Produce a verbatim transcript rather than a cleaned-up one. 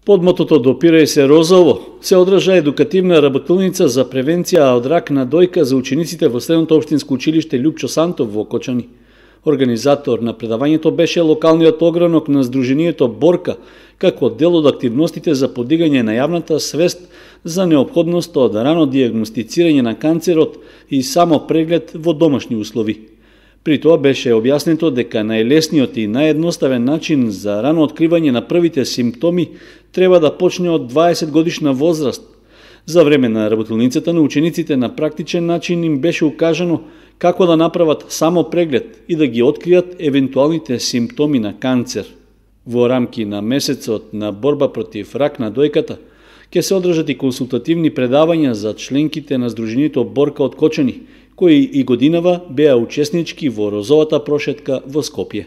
Под мотото "Допирај се розово" се одржа едукативна работилница за превенција од рак на дојка за учениците во Средното општинско училиште Љупчо Сантов во Окочани. Организатор на предавањето беше локалниот огранок на Сдруженијето Борка, како дел од активностите за подигање на јавната свест за неопходноста од рано дијагностицирање на канцерот и само преглед во домашни услови. При тоа беше објаснето дека најлесниот и наједноставен начин за рано откривање на првите симптоми треба да почне од дваесет годишна возраст. За време на работилницата на учениците на практичен начин им беше укажано како да направат само преглед и да ги откријат евентуалните симптоми на канцер. Во рамки на месецот на борба против рак на дојката ќе се одржат и консултативни предавања за членките на Сдруженијето Борка од Кочани, кои и годинава беа учеснички во розовата прошетка во Скопје.